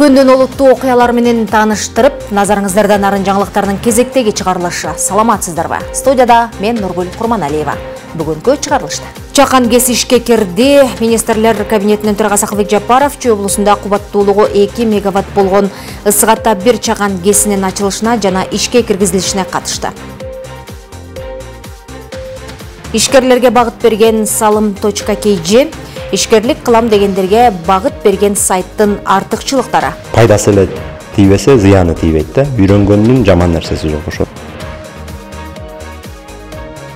Күндүн олуттуу окуялар менен тааныштырып, назарыңыздарда нарын жаңылыктарынын кезектеги чыгарылышы. Саламатсыздарбы? Студияда мен Нургүл Курманалиева. Бүгүнкү чыгарылышта Чакан ГЭС ишке кирди. Министрлер кабинетинин төрагасы Акылбек Жапаров Чүй облусунда кубаттуулугу 2 мегаватт болгон ысык-ата 1 Чакан ГЭСинин ачылышына жана ишке киргизилишине катышты. Ишкерлерге багыт берген salım.kg ишкерлик кылам дегендерге багыт берген сайттын артыкчылыктары. Пайдасы эле тийбесе, зыяны тийбейт да. Үйрөнгөндүн жаман нерсеси жок ошо.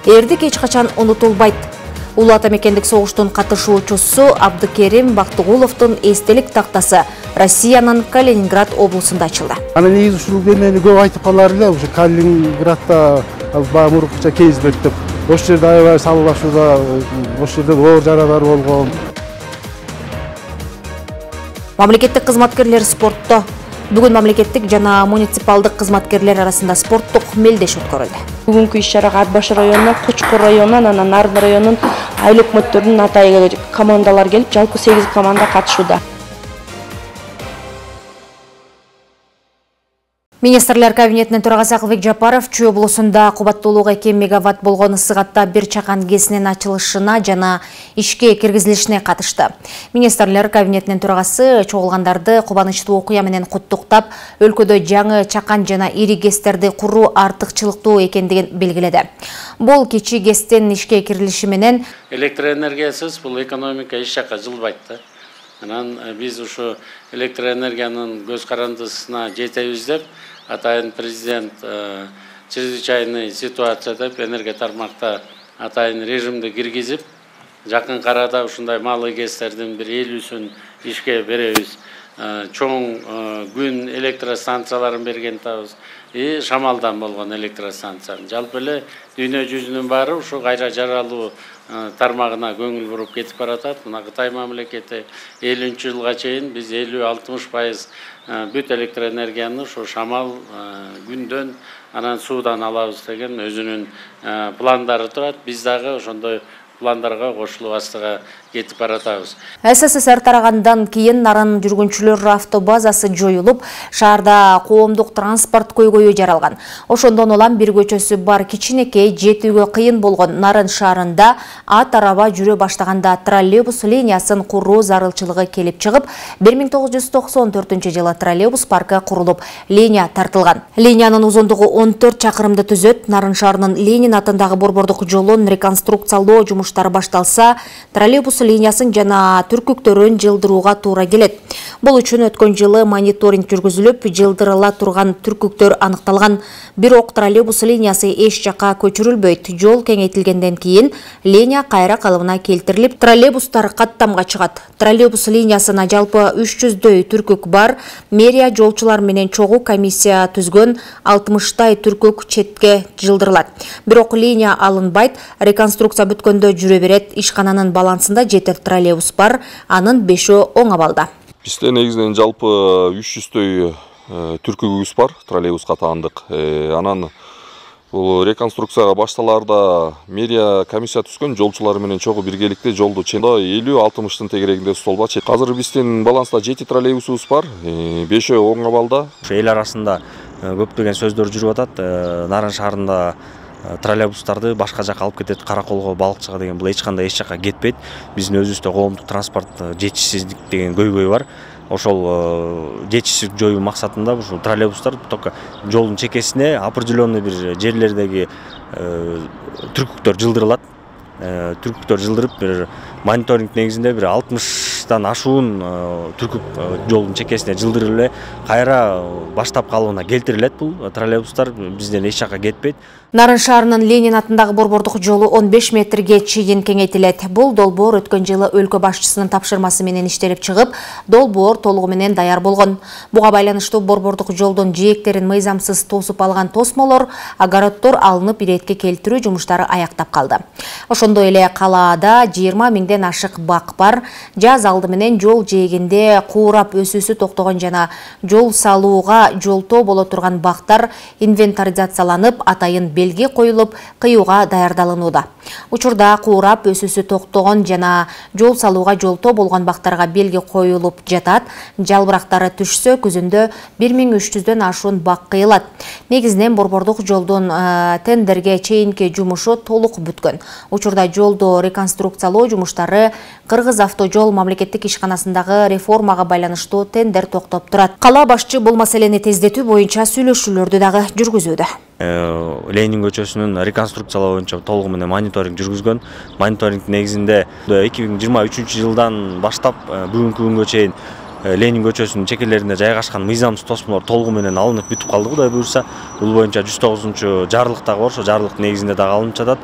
Эрдик эч качан унутулбайт. Улуу ата мекендик согуштун катышуучусу Абдыкерим Бактыгуловдун эстелик тактасы Россиянын Калининград облусунда ачылды. Аны негизи ушул эмени көп айтып калар эле, ушу Калининградда мурунча кезбек деп. Ошол жерде аябай салгылашууда, ошол жерде оор жаралар болгон. Мамлекеттик кызматкерлер спортто. Бүгүн мамлекеттик жана муниципалдык кызматкерлер арасында спорттук мелдеш өткөрүлдү. Бүгүнкү иш-чарага Ат башы районунан, Кучкур районунан, анан Нарын районунун айыл өкмөттөрүнүн атайы командалар келип, жалпы 8 команда катышууда. Министрлер кабинетинин төрагасы Акылбек Жапаров Чүй облусунда кубаттуулугу 2 мегаватт болгон ысык-ата 1 Чакан ГЭСинин ачылышына жана ишке киргизилишине катышты. Министрлер кабинетинин төрагасы чогулгандарды кубанычтуу окуя менен куттуктап, өлкөдө жаңы Чакан жана ири ГЭСтерди куруу артыкчылыктуу экендигин белгиледи. Бул кичи ГЭСтин ишке кирилиши менен электр энергиясыз бул экономика эч жакка жылбайт да. Анан биз ушу электр энергиянын көз карандысына жетебиз деп атайын президент чрезвычайный ситуация деп энергия тармакта атайын режимди киргизип, жакын арада ушундай малый ГЭСтердин бир 50-сүн ишке беребиз. Чоң күн электростанцияларын берген табыз. Шамалдан болгон электростанция. Жалпы эле дүйнө жүзүнүн баары ушу кайра жаралуу тармагына көңүл буруп кетип баратат. Мына Кытай мамлекети 50-жылга чейин биз 50-60% бүт электроэнергияны ушу шамал күндөн анан суудан алабыз деген өзүнүн пландары турат. Биз дагы ошондой пландарга кошулуп астыга кетип баратабыз. СССР тарагандан кийин Нарын жүргүнчүлөр автобазасы жоюлуп, шаарда коомдук транспорт көйгөйү жаралган. Ошондон улам бир көчөсү бар кичинекей, жетүүгө кыйын болгон Нарын шаарында ат араба жүрө баштаганда троллейбус линиясын куруу зарылчылыгы келип чыгып, 1994-жылы троллейбус паркы курулуп, линия тартылган. Линиянын узундугу 14 чакырымды түзөт. Нарын шаарынын Ленин атындагы борбордук жолун реконструкциялоо жумуштары башталса, троллейбус линиясын жана түркүктөрүн жылдырууга туура келет. Бул үчүн өткөн жылы мониторинг жүргүзүлүп, жылдырыла турган түркүктөр аныкталган. Бирок троллейбус линиясы эч жакка көчүрүлбөйт. Жол кеңейтилгенден кийин линия кайра калыбына келтирилип, троллейбустар каттамга чыгат. Троллейбус линиясына жалпы 300дөй түркүк бар. Мэрия жолчулар менен чогуу комиссия түзгөн 60тай түркүк четке жылдырылат. Бирок линия алынбайт. Реконструкция бүткөндө жүрө берет. Ишкананын балансында 7 троллейбус бар, анын 5-өө оң абалда. Бизде негизинен жалпы 300дөй түркүгүбүз бар, троллейбуска таандык. Анан бул реконструкцияга башталаарда мэрия комиссия түзгөн, жолчулар менен чогуу биргеликте жолду 50-60тын тегерегинде столба. Азыр биздин баланста 7 троллейбусубуз бар, 5-өө оң абалда. Эл арасында көптөгөн сөздөр жүрүп атат. Нарын шаарында троллейбустарды башка жака алып кетет, Караколго, Балыкчыга деген. Бул эч кандай эч жака кетпейт. Биздин өзүбүздө коомдук транспорт жетишсиздик деген көйгөй бар. Ошол жетишсиздик жоюу максатында ушул троллейбустар только жолдун чекесине определенный бир жерлердеги түркүктөр жылдырылат. Түркүктөр жылдырып, бир мониторинг негизинде бир 60тан ашуун түркүк жолдун чекесине жылдырылып эле кайра баштап калыбына келтирилет. Бул троллейбустар бизден эч жака кетпейт. Нарын шаарынын Ленин атындагы борбордук жолу 15 метрге чейин кеңейтилет. Бул долбоор өткөн жылы өлкө башчысынын тапшырмасы менен иштелип чыгып, долбоор толугу менен даяр болгон. Буга байланыштуу борбордук жолдун жээктерин мыйзамсыз тосуп алган тосмолор, огороддор алынып иретке келтирүү жумуштары аяктап калды. Ошондой эле калаада 20 миңден ашык бак бар. Жаз алды менен жол жээгинде куурап өсүүсү токтогон жана жол салууга жолтоо боло турган бактар инвентаризацияланып, атайын белги коюлуп, кыюуга даярдалынууда. Учурда куурап өсүүсү токтогон жана жол салууга жолтоо болгон бактарга белги коюлуп жатат. Жалбырактары түшсө, күзүндө 1300дөн ашуун бак кыйылат. Негизинен борбордук жолдун тендерге чейинки жумушу толук бүткөн. Учурда жолду реконструкциялоо жумуштары Кыргыз автожол мамлекеттик ишканасындагы реформага байланыштуу тендер токтоп турат. Кала башчы бул маселени тездетүү боюнча сүйлөшүүлөрдү дагы жүргүзүүдө. Ленин көчөсүнүн реконструкциялоо боюнча толугу менен мониторинг жүргүзгөн. Мониторинг негизинде 2023 жылдан баштап бүгүнкү күнгө чейин Ленин көчөсүнүн чекелеринде жайгашкан мыйзамсыз тосмолор толугу менен алынып бүтүп калды, Кудай буюрса. Бул боюнча 109 жарлык дагы бар, ошо жарлык негизинде дагы алынып жатат.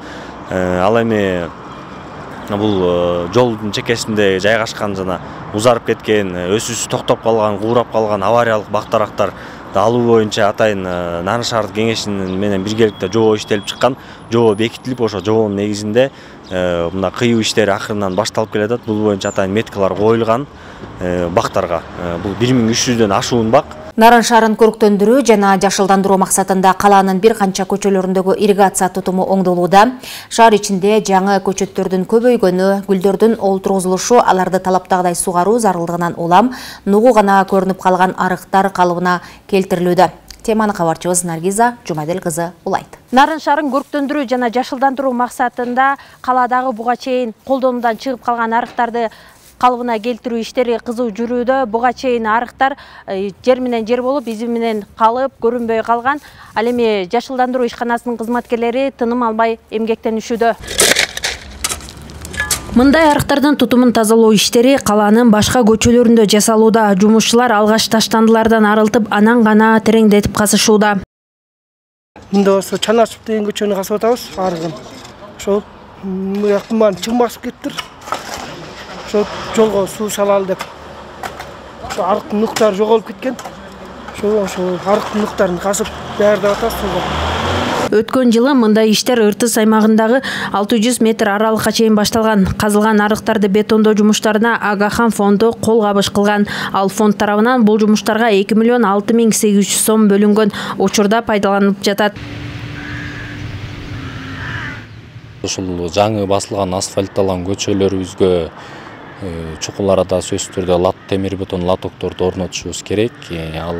Ал эми бул жолдун чекесинде жайгашкан жана узарып кеткен, өсүүсү токтоп калган, куурап калган авариялык бак-тарактар алуу боюнча атайын Нарын шаардык кеңешинин менен биргеликте жобо иштелип чыккан. Жобо бекитилип, ошо жобонун негизинде мына кыюу иштери акырынан башталып келатат. Бул боюнча атайын меткалар коюлган бактарга. Бул 1300дөн ашуун бак. Нарын шаарын көрктөндүрүү жана жашылдандыруу максатында калаанын бир канча көчөлөрүндөгү ирригация тутуму оңдолууда. Шаар ичинде жаңы көчөттөрдүн көбөйгөнү, гүлдөрдүн олтургузулушу, аларды талаптагыдай сугаруу зарылдыгынан улам нугу гана көрүнүп калган арыктар калыбына келтирилүүдө. Теманы кабарчыбыз Наргиза Жумадел кызы улайт. Нарын шаарын көрктөндүрүү жана жашылдандыруу максатында каладагы буга чейин колдонуудан чыгып калган арыктарды калыбына келтирүү иштери кызуу жүрүүдө. Буга чейин арыктар жер менен жер болуп, изи менен калып, көрүнбөй калган. Ал эми жашылдандыруу ишканасынын кызматкерлери тыным албай эмгектенишүүдө. Мындай арыктардын тутумун тазалоо иштери калаанын башка көчөлөрүндө жасалууда. Жумушчулар алгач таштандылардан арылтып, анан гана тереңдетип казышууда. Мында болсо Чанашев деген көчөнү казып атабыз, арыгын. Ошол мыяктан чың басып кеттир. Ошо жолго суу салалы деп. Ошо арыктын нуктары жоголуп кеткен. Ошо арыктын нуктарын казып даярдап атабыз сууга. Өткөн жылы мындай иштер Ыртыс аймагындагы 600 метр аралыкка чейин башталган. Казылган арыктарды бетондоо жумуштарына Агахан фонду кол кабыш кылган. Ал фонд тарабынан бул жумуштарга 2 миллион 6800 сом бөлүнгөн. Учурда пайдаланылып жатат. Ушул жаңы басылган асфальтталган көчөлөрүбүзгө чукул арада сөзсүз түрдө темир бетон лотокторду орнотушубуз керек. Ал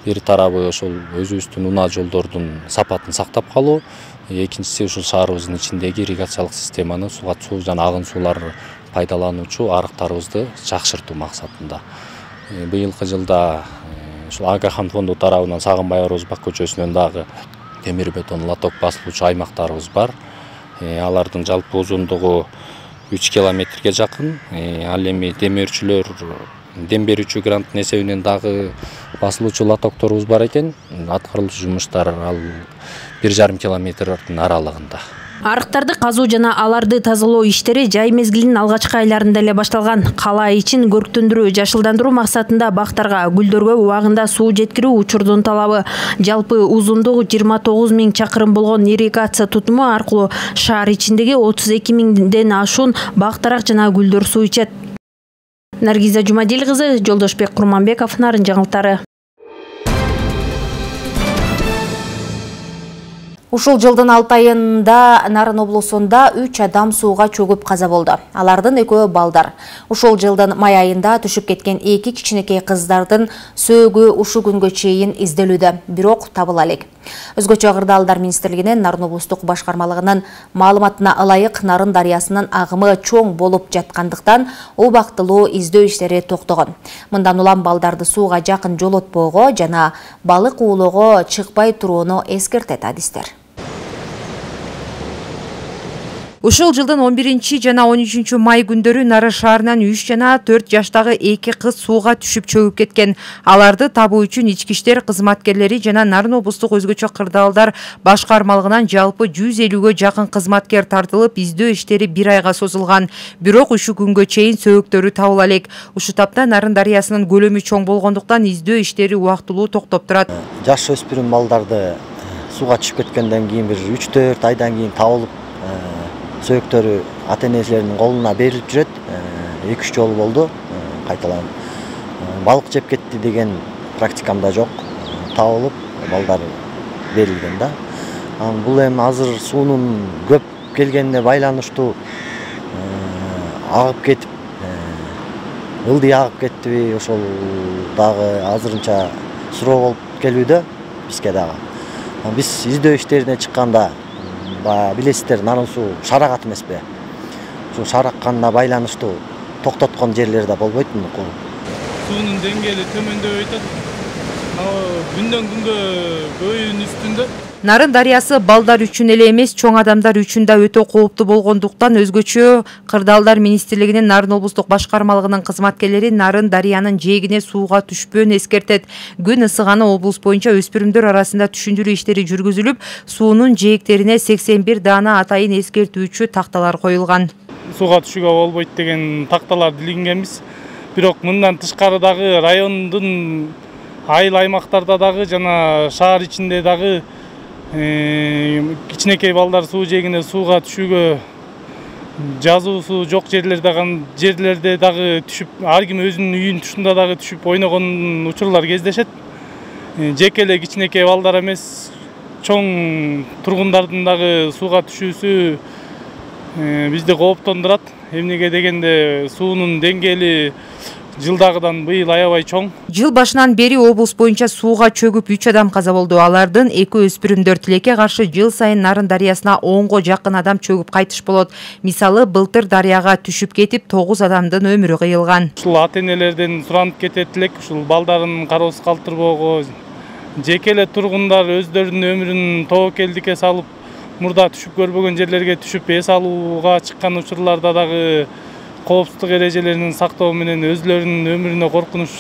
бир тарабы ошол өзүбүздүн унаа жолдордун сапатын сактап калуу, экинчиси ушул шаарыбыздын ичиндеги ирригациялык системаны суу жана агын суулар пайдалануучу арыктарыбызды жакшыртуу максатында. Быйылкы жылда ушул Агахан фонду тарабынан Сагынбай Орозбак көчөсүнөн дагы темир бетон лоток басылуучу аймактарыбыз бар. Алардын жалпы узундугу 3 километрге жакын. Ал эми дем берүүчү гранттын эсебинен дагы басылуучу лотокторубуз бар экен. Аткарылуучу жумуштар ал 1,5 километрдин аралыгында. Арыктарды казуу жана аларды тазалоо иштери жай мезгилинин алгачкы айларында эле башталган. Кала ичин көрктөндүрүү, жашылдандыруу максатында бактарга, гүлдөргө убагында суу жеткирүү учурдун талабы. Жалпы узундугу 29 000 чакырым болгон ирригация тутуму аркылуу шаар ичиндеги 32 000ден ашуун бак-тарак жана гүлдөр суу ичет. Наргиза Жумадел кызы, Жолдошбек Курманбеков, Нарын жаңылыктары. Ушул жылдын 6 айында Нарын облусунда 3 адам сууга чөгүп каза болду. Алардын 2-өө балдар. Ушул жылдын май айында түшүп кеткен 2 кичинекей кыздардын сөөгү ушу күнгө чейин изделүүдө, бирок табыла элек. Өзгөчө Кырдаалдар министрлигинин Нарын облустук башкармалыгынын маалыматына ылайык, Нарын дарыясынын агымы чоң болуп жаткандыктан убактылуу издөө иштери токтогон. Мындан улам балдарды сууга жакын жолотпоого жана балык уулоого чыкпай турууну эскертет адистер. Ушул жылдын 11 жана 13 май күндөрү Нарын шаарынан 3 жана 4 жаштагы 2 кыз сууга түшүп чөгүп кеткен. Аларды табуу үчүн ички иштер кызматкерлери жана Нарын облустук өзгөчө Кырдаалдар башкармалыгынан жалпы 150гө жакын кызматкер тартылып, издөө иштери 1 айга созулган. Бирок ушу күнгө чейин сөөгтөрү табыла элек. Ушу тапта Нарын дарыясынын көлөмү чоң болгондуктан издөө иштери убактылуу токтоп турат. Жаш өспүрүм балдарды сууга түшүп кеткенден кийин бир 3-4 айдан кийин табылып, сөөгтөрү ата-энелеринин колуна берилип жүрөт. 2-3 жолу болду кайталанып. Балык жеп кетти деген практикамда жок. Табылып, балдар берилген да. Бул эми азыр суунун көп келгенине байланыштуу агып кетип, ылдый агып кеттиби, ошол дагы азырынча суроо болуп келүүдө бизге дагы. Биз издөө иштерине чыкканда, билесиздер, нарын суу шарагат эмеспи? Ошо шаракканына байланыштуу токтоткон жерлер да болбойт мынуку. Суунун деңгээли төмөндөп атат. Күндөн күнгө көбөйүүнүн үстүндө. Нарын дарыясы балдар үчүн эле эмес, чоң адамдар үчүн да өтө кооптуу болгондуктан өзгөчө Кырдаалдар министрлигинин Нарын облустук башкармалыгынын кызматкерлери Нарын дарыянын жээгине сууга түшпөөнү эскертет. Күн ысыганы облус боюнча өспүрүмдөр арасында түшүндүрүү иштери жүргүзүлүп, суунун жээктерине 81 даана атайын эскертүүчү такталар коюлган. Сууга түшүүгө болбойт деген такталар илингенбиз. Бирок мындан тышкары дагы райондун айыл аймактарда дагы жана шаар ичинде дагы кичинекей балдар суу жээгине сууга түшүүгө жазуусу жок жерлерде дагы түшүп, ар ким өзүнүн үйүнүн тушунда дагы түшүп ойногон учурлар кездешет. Жеке эле кичинекей балдар эмес, чоң тургундардын дагы сууга түшүүсү бизди кооптондурат. Эмнеге дегенде суунун деңгээли жылдагыдан быйыл аябай чоң. Жыл башынан бери облус боюнча сууга чөгүп 3 адам каза болду. Алардын 2 өспүрүмдөр. Тилекке каршы жыл сайын Нарын дарыясына 10го жакын адам чөгүп кайтыш болот. Мисалы, былтыр дарыяга түшүп кетип 9 адамдын өмүрү кыйылган. Ушул ата-энелерден суранып кетет элек, ушул балдарын кароосуз калтырбоого, жеке эле тургундар өздөрүнүн өмүрүн тобокелдикке салып, мурда түшүп көрбөгөн жерлерге түшүп эс алууга чыккан учурларда дагы коопсуздук эрежелерин сактоо менен өзлөрүнүн өмүрүнө коркунуч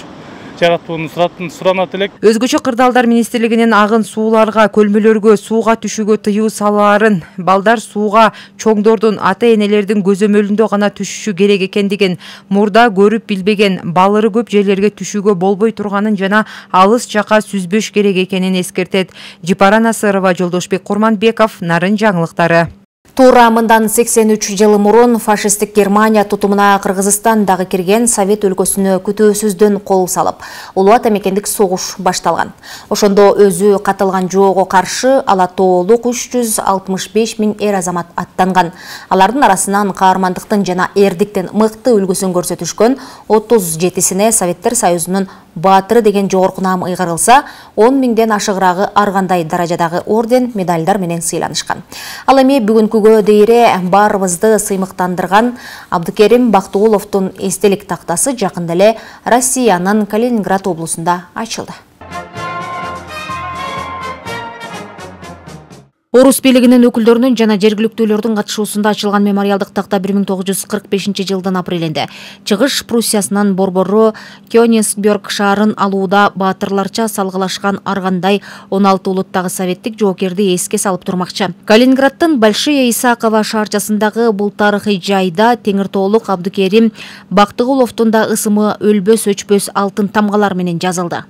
жаратканын суранат элек. Өзгөчө Кырдаалдар министрлигинин агын сууларга, көлмөлөргө сууга түшүүгө тыюу салаарын, балдар сууга чоңдордун, ата-энелердин көзөмөлүндө гана түшүшү керек экендигин, мурда көрүп билбеген, балыры көп жерлерге түшүүгө болбой турганын жана алыс жака сүзбөш керек экенин эскертет. Жипара Насырова, Жолдошбек Курманбеков, Нарын жаңылыктары. Туура мындан 83 жыл мурун фашисттик Германия тутумуна Кыргызстан дагы кирген, Совет өлкөсүнө күтүүсүздөн кол салып, улуу ата мекендик согуш башталган. Ошондо өзү катылган жоого каршы ала тоолук 365 000 эр азамат аттанган. Алардын арасынан каармандыктын жана эрдиктин мыкты үлгүсүн көрсөтүшкөн 37сине Советтер Союзунун баатыры деген жогорку наам ыйгарылса, 10 000ден ашыгыраагы ар кандай даражадагы орден, медальдар менен сыйланышкан. Ал эми бүгүнкүгө дейре баарыбызды сыймыктандырган Абдыкерим Бактыгуловдун эстелик тактасы жакында эле Россиянын Калининград облусунда ачылды. Орус бийлигинин өкүлдөрүнүн жана жергиликтүүлөрдүн катышуусунда ачылган мемориалдык такта 1945 жылдын апрелинде Чыгыш Пруссиясынын борбору Кёнигсберг шаарын алууда баатырларча салгылашкан ар кандай 16 улуттагы советтик жоокерди эске салып турмакчы. Калининграддын Большая Исакова шаарчасындагы бул тарыхый жайда Теңиртоолук Абдыкерим Бактыгуловдун да ысымы өлбөс өчпөс алтын тамгалар менен жазылды.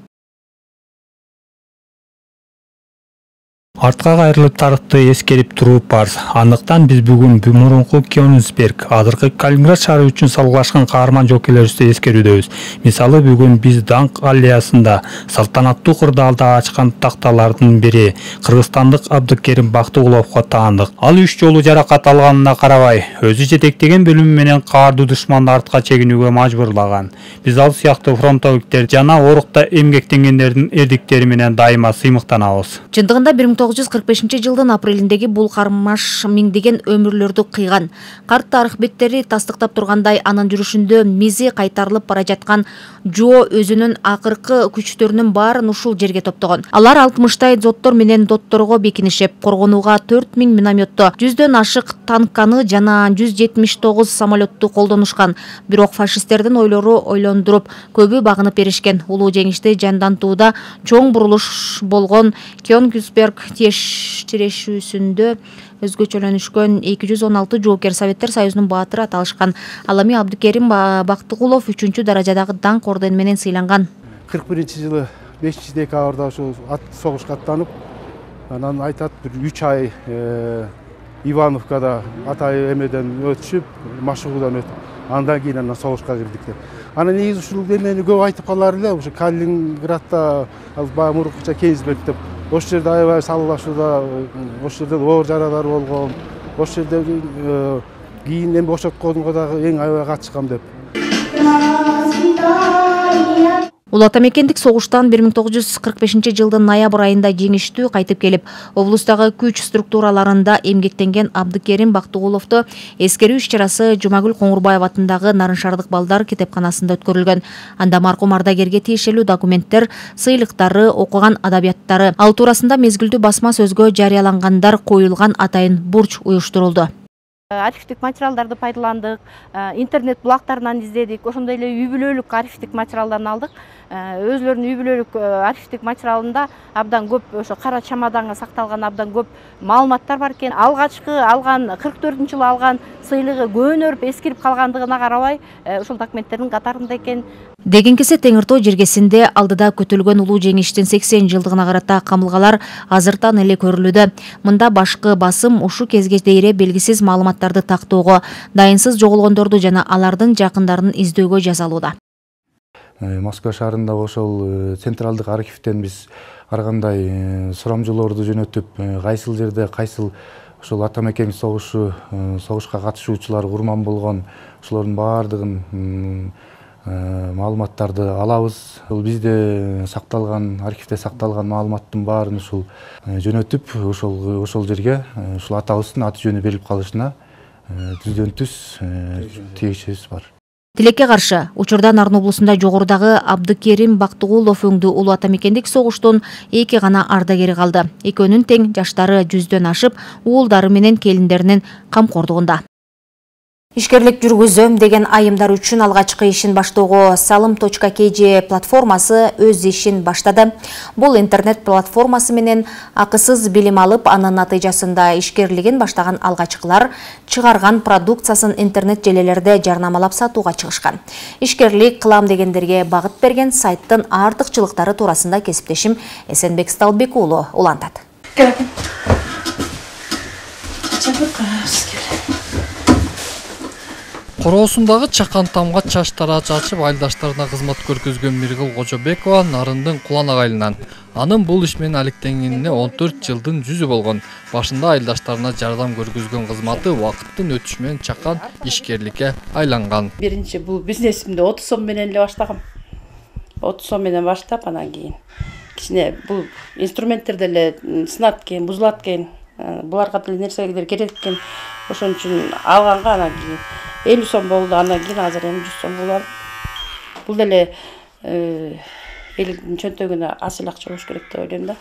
Артка кайрылып тарыхты эскерип туруу парз. Андыктан биз бүгүн мурунку Кёнигсберг, азыркы Калининград шаары үчүн салгылашкан каарман жоокерлерибизди эскерүүдөбүз. Мисалы, бүгүн биз Даңк аллеясында салтанаттуу кырдаалда ачкан такталардын бири кыргызстандык Абдыкерим Бактыгуловго таандык. Ал 3 жолу жаракат алганына карабай, өзү жетектеген бөлүмү менен каардуу душманды артка чегинүүгө мажбурлаган. Биз ал сыяктуу фронтовиктер жана орукта эмгектенгендердин эрдиктери менен дайыма сыймыктанабыз. Чындыгында 1945 жылдын апрелиндеги бул кармаш миңдеген өмүрлөрдү кыйган. Карт тарых беттери тастыктап тургандай, анын жүрүшүндө мизи кайтарылып бара жаткан Жо өзүнүн акыркы күчтөрүнүн баарын ушул жерге топтогон. Алар 60-тай зоттор менен дотторго бекинишип, коргонууга 4000 минометто, 100дөн ашык танканы жана 179 самолетту колдонушкан. Бирок фашисттердин ойлору ойлондуруп, көбү багынып беришкен. Улуу жеңишти жандантууда чоң бурулуш болгон Кёнигсберг тирешүүсүндө өзгөчөлөнүшкөн 216 жоокер Советтер Союзунун баатыры аталышкан. Ал эми Абдыкерим Бактыгулов 3-чү даражадагы Даңк ордени менен сыйланган. 41-жылы 5 декабрда ошо согушка аттанып, анан айтат бир 3 ай Ивановкада атай эмеден өтүшүп, Машыгуудан өтүп, андан кийин анан согушка кирдик деп. Анан негизи ушул эмени көп айтып калар эле, ошо Калининградда баягы мурункуча Кейзберг деп ошол жерде аябай салгылашууда, ошол жерде оор жарадар болгон, ошол жердеги кийин эми бошотконго дагы эң аябай катышкам деп. Улуу ата мекендик согуштан 1945-жылдын ноябрь айында жеңиштүү кайтып келип, облустагы күч структураларында эмгектенген Абдыкерим Бактыгуловду эскерүү иш-чарасы Жумагүл Коңурбаева атындагы Нарын шаардык балдар китепканасында өткөрүлгөн. Анда маркум ардагерге тиешелүү документтер, сыйлыктары, окуган адабияттары, ал туурасында мезгилдүү басма сөзгө жарыялангандар коюлган атайын бурч уюштурулду. Архивдик материалдарды пайдаландык, интернет булактарынан издедик, ошондой эле үй бүлөлүк архивдик материалдарын алдык. Өзлөрүнүн үй бүлөлүк архивдик материалында абдан көп ошо кара чамаданга сакталган абдан көп маалыматтар бар экен. Алгачкы алган 44-жылы алган сыйлыгы көөнөрүп эскирип калгандыгына карабай, ошол документтердин катарында экен. Дегенкесе Теңир Тоо жергесинде алдыда көтөлгөн улуу жеңиштин 80 жылдыгына карата камылгалар азыртан эле көрүлүүдө. Мында башкы басым ушу кезге дейре белгисиз маалыматтарды тактоого, дайынсыз жоголгондорду жана алардын жакындарын издөөгө жазалууда. Москва шаарында ошол централдык архивден биз ар кандай сурамжылоорду жөнөтүп, кайсыл жерде кайсыл ошол ата мекендик согушка катышуучулар курман болгон ошолордун баардыгын маалыматтарды алабыз. Бизде сакталган, архивде сакталган маалыматтын баарын ушул жөнөтүп, ошол жерге ушул атабыздын аты жөнү берилип калышына түздөн түз тийишибиз бар. Тилекке каршы, учурда Нарын облусунда жогорудагы Абдыкерим Бактыгулов өңдүү улуу ата мекендик согуштун 2 гана ардагери калды. Экөөнүн тең жаштары 100дөн ашып, уулдары менен келиндеринин камкордугунда. Ишкерлик жүргүзөм деген айымдар үчүн алгачкы ишин баштоого salom.kg платформасы өз ишин баштады. Бул интернет платформасы менен акысыз билим алып, анын натыйжасында ишкерлигин баштаган алгачкылар чыгарган продукциясын интернет желелерде жарнамалап сатууга чыгышкан. Ишкерлик кылам дегендерге багыт берген сайттын артыкчылыктары туурасында кесиптешим Эсенбек Сталбек уулу улантат. Короосундагы чакан тамга чач тараачы ачып айылдаштарына кызмат көргөзгөн Миргыл Кожобекова Нарындын кулан агайлынан. Анын бул иш менен алектенгенине 14 жылдын жүзү болгон. Башында айылдаштарына жардам көргөзгөн кызматы убакыттын өтүшү менен чакан ишкерликке айланган. Биринчи бул бизнесимди 30 сом менен эле баштагам. 30 сом менен баштап, анан кийин кичине бул инструменттерди эле сынат экен, бузулат экен. Буларга деле нерселер керек экен. Ошон үчүн алганга анан кийин 50 сом болду, андан кийин азыр эми 100 сом болуп. Бул деле элдин чөнтөгүнө асыл акча болуш керек деп ойлойм да.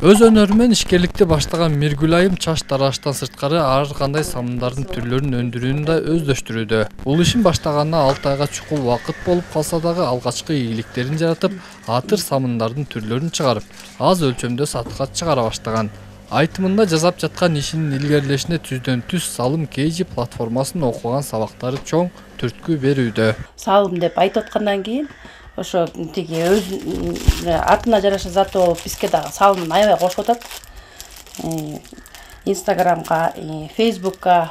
Өз өнөрү менен ишкерликти баштаган Миргүл айым чач тараштан сырткары ар кандай самындардын түрлөрүн өндүрүүнү да өздөштүрүүдө. Бул ишин баштаганына 6 айга чукул убакыт болуп калса дагы алгачкы ийгиликтерин жаратып, атыр самындардын түрлөрүн чыгарып, аз өлчөмдө сатыкка чыгара баштаган. Айтымында жасап жаткан ишинин илгерилешине түздөн түз salom.kg платформасынын окуган сабактары чоң түрткү берүүдө. Салым деп айтып аткандан кийин ошо тиги өз атына жараша заты болуп бизге дагы салымын аябай кошуп атат. Инстаграмга, Фейсбукка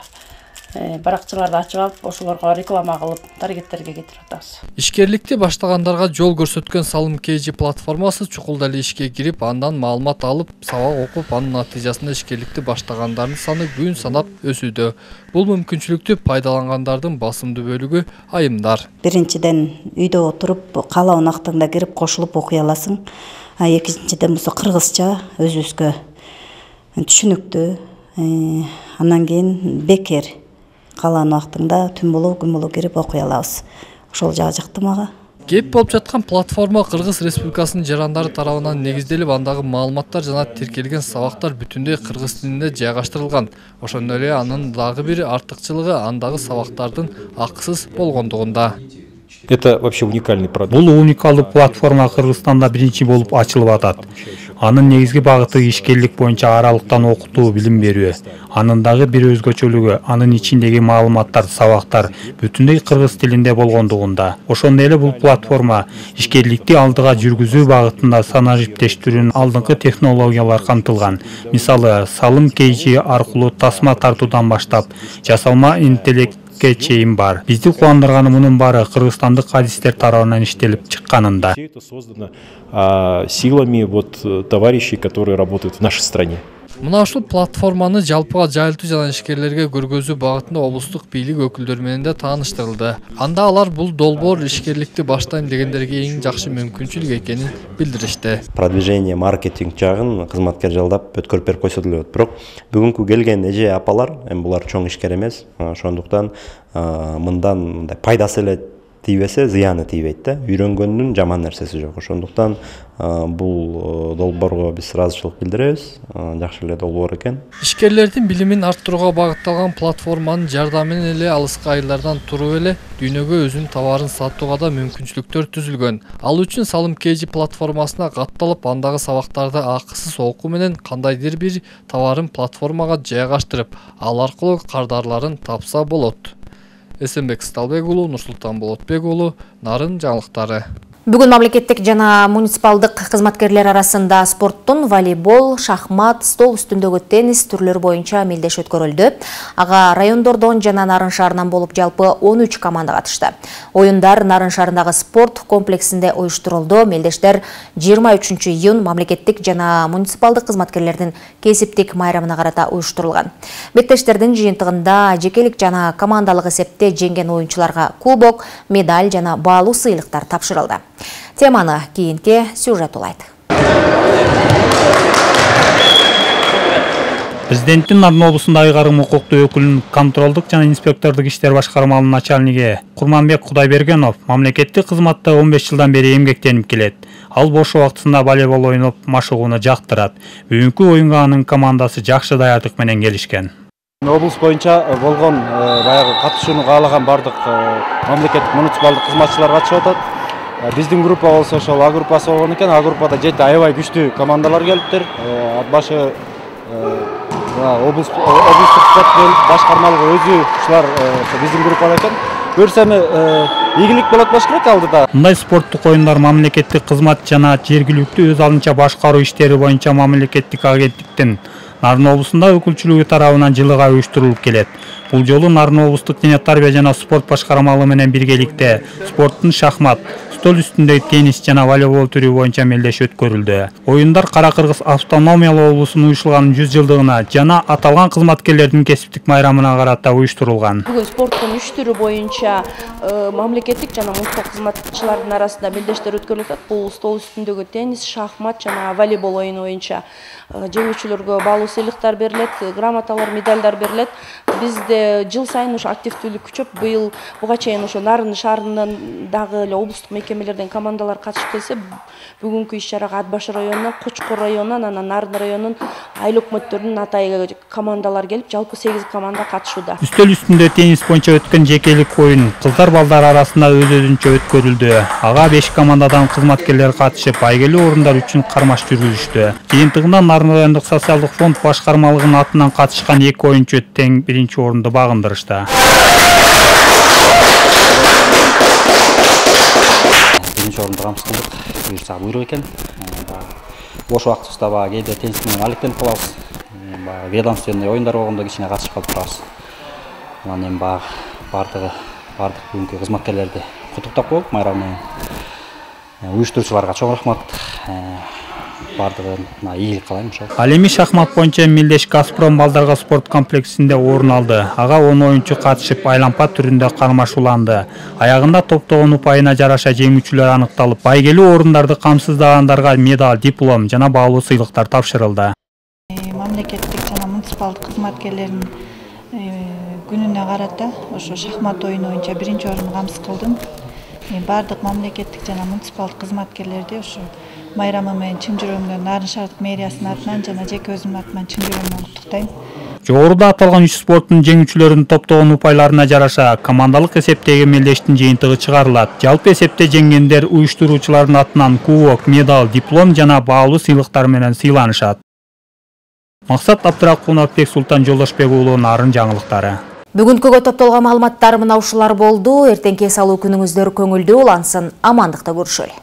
баракчаларды ачып алып, ошолорго реклама кылып, таргеттерге кетирип атабыз. Ишкерликти баштагандарга жол көрсөткөн salom.kg платформасы чукул эле ишке кирип, андан маалымат алып, сабак окуп, анын натыйжасында ишкерликти баштагандардын саны күн санап өсүүдө. Бул мүмкүнчүлүктү пайдалангандардын басымдуу бөлүгү айымдар. Биринчиден үйдө отуруп, каалаган убактыңда кирип кошулуп окуй аласың. Экинчиден болсо кыргызча өзүбүзгө түшүнүктүү. Андан кийин бекер каалаган убактыңда түн болобу күн болобу кирип окуй алабыз. Ошол жагы жакты мага. Кеп болуп жаткан платформа Кыргыз Республикасынын жарандары тарабынан негизделип, андагы маалыматтар жана тиркелген сабактар бүтүндөй кыргыз тилинде жайгаштырылган. Ошондой эле анын дагы бир артыкчылыгы андагы сабактардын акысыз болгондугунда. Это вообще уникальный продукт. Бул уникалдуу платформа Кыргызстанда биринчи болуп ачылып атат. Анын негизги багыты ишкерлик боюнча аралыктан окутуу, билим берүү. Анын дагы бир өзгөчөлүгү анын ичиндеги маалыматтар, сабактар бүтүндөй кыргыз тилинде болгондугунда. Ошондой эле бул платформа ишкерликти алдыга жүргүзүү багытында санаа жиптештирүүнүн алдыңкы технологиялар камтылган. Мисалы, salom.kg аркылуу тасма тартуудан баштап, жасалма интеллект 2040 чейин бар. Бизди кубандырганы мунун баары кыргызстандык адистер тарабынан иштелип чыкканында. Это создано силами товарищей, которые работают в нашей стране. Мына ушул платформаны жалпыга жайылтуу жана ишкерлерге көргөзүү багытында облустук бийлик өкүлдөрү менен да тааныштырылды. Анда алар бул долбоор ишкерликти баштайм дегендерге эң жакшы мүмкүнчүлүк экенин билдиришти. Продвижение, маркетинг жагын кызматкер жалдап өткөрүп берип койсо деле болот. Бирок бүгүнкү келген эже апалар, эми булар чоң ишкер эмес. Ошондуктан мындан мындай пайдасы эле тийбесе зыяны тийбейт да. Үйрөнгөндүн жаман нерсеси жок. Ошондуктан бул долбоорго биз ыраазычылык билдиребиз. Жакшы эле долбоор экен. Ишкерлердин билимин арттырууга багытталган платформанын жардамы менен эле алыскы айылдардан туруп эле дүйнөгө өзүнүн товарын сатууга да мүмкүнчүлүктөр түзүлгөн. Ал үчүн Салым KG платформасына катталып, андагы сабактарды акысыз окуу менен кандайдыр бир товарын платформага жайгаштырып, ал аркылуу кардарларын тапса болот. Эсенбек Сталбек уулу, Нурсултан Болотбек уулу, Нарын жаңылыктары. Бүгүн мамлекеттик жана муниципалдык кызматкерлер арасында спорттун волейбол, шахмат, стол үстүндөгү теннис түрлөрү боюнча мелдеш өткөрүлдү. Ага райондордон жана Нарын шаарынан болуп жалпы 13 команда катышты. Оюндар Нарын шаарындагы спорт комплексинде уюштурулду. Мелдештер 23 июнь мамлекеттик жана муниципалдык кызматкерлердин кесиптик майрамына карата уюштурулган. Беттештердин жыйынтыгында жекелик жана командалык эсепте жеңген оюнчуларга кубок, медаль жана баалуу сыйлыктар тапшырылды. Теманы кийинки сюжет улайт. Президенттин Нарын облусунда айгарым укуктуу өкүлүнүн контролдук жана инспектордук иштер башкармалынын начальниги Курманбек Кудайбергенов мамлекеттик кызматта 15 жылдан бери эмгектенип келет. Ал бош убактысында волейбол ойноп машыгууну жактырат. Бүгүнкү оюнга анын командасы жакшы даярдык менен келишкен. Облус боюнча болгон баягы катышууну каалаган бардык мамлекеттик муниципалдык кызматчылар катышып атат. Биздин группа болсо ошол А группасы болгон экен. А группада 7 аябай күчтүү командалар келиптир. Ат башы облустук спорт башкармалыгы өзү ушулар биздин группада экен. Көрсөм ийгилик болот болуш керек алдыда. Мындай спорттук оюндар мамлекеттик кызмат жана жергиликтүү өз алынча башкаруу иштери боюнча мамлекеттик агенттиктин Нарын облусунда өкүлчүлүгү тарабынан жылыга уюштурулуп келет. Бул жолу Нарын облустук дене тарбия жана спорт башкармалыгы менен биргеликте спорттун шахмат, стол үстүндөгү теннис жана волейбол түрү боюнча мелдеш өткөрүлдү. Оюндар Кара Кыргыз автономиялуу облусунун уюшулганын 100 жылдыгына жана аталган кызматкерлердин кесиптик майрамына карата уюштурулган. Бүгүн спорттун 3 түрү боюнча мамлекеттик жана муниципалдык кызматчылардын арасында мелдештер өткөрүлүп атат. Бул стол үстүндөгү теннис, шахмат жана волейбол оюну боюнча жеңүүчүлөргө баалуу сыйлыктар берилет, грамоталар, медальдар берилет. Бизде жыл сайын ушу активдүүлүк күчөп, быйыл буга чейин ошо Нарын шаарынан дагы эле облустук мекемелерден командалар катышып келсе, бүгүнкү иш-чарага Ат башы районунан, Кочкор районунан, анан Нарын районунун айыл өкмөттөрүнүн атайы командалар келип, жалпы 8 команда катышууда. Үстөл үстүндө теннис боюнча өткөн жекелик оюн кыздар балдар арасында өз-өзүнчө өткөрүлдү. Ага 5 командадан кызматкерлер катышып, байгелүү орундар үчүн кармаш жүргүзүштү. Жыйынтыгында Нарын райондук социалдык фонд башкармалыгынын атынан катышкан 2 оюнчу тең биринчи орунду багындырышты. Биринчи орунду камсыз кылдык. Буюрса буйрук экен. Бош убактыбызда баягы кээде теннис менен алектенип калабыз. Баягы ведомственный оюндар болгондо кичине катышып калып турабыз. Анан эми бардык бүгүнкү кызматкерлерди куттуктап коелук майрам менен. Уюштуруучуларга чоң рахмат. Бардыгына ийгилик каалайм ошол. Ал эми шахмат боюнча мелдеш Газпром балдарга спорт комплексинде орун алды. Ага 10 оюнчу катышып айлампа түрүндө кармашууланды. Аягында топтогон упайына жараша жеңүүчүлөр аныкталып, байгелүү орундарды камсыздагандарга медаль, диплом жана баалуу сыйлыктар тапшырылды. Мамлекеттик жана муниципалдык кызматкерлердин күнүнө карата ошо шахмат оюну боюнча биринчи орунду камсыз кылдым. Бардык мамлекеттик жана муниципалдык кызматкерлерди ошо майрамы менен чын жүрөгүмдөн Нарын шаардык мэриясынын атынан жана жеке өзүмдүн атынан чын жүрөгүмдөн куттуктайм. Жогоруда аталган 3 спорттун жеңүүчүлөрүнүн топтогон упайларына жараша командалык эсептеги мелдештин жыйынтыгы чыгарылат. Жалпы эсепте жеңгендер уюштуруучулардын атынан кубок, медаль, диплом жана баалуу сыйлыктар менен сыйланышат. Максат Абдракунов, Султан Жолдошбек уулу, Нарын жаңылыктары. Бүгүнкүгө топтолгон маалыматтар мына ушулар болду. Эртеңки салуу күнүңүздөр көңүлдүү улансын. Амандыкта көрүшөлү.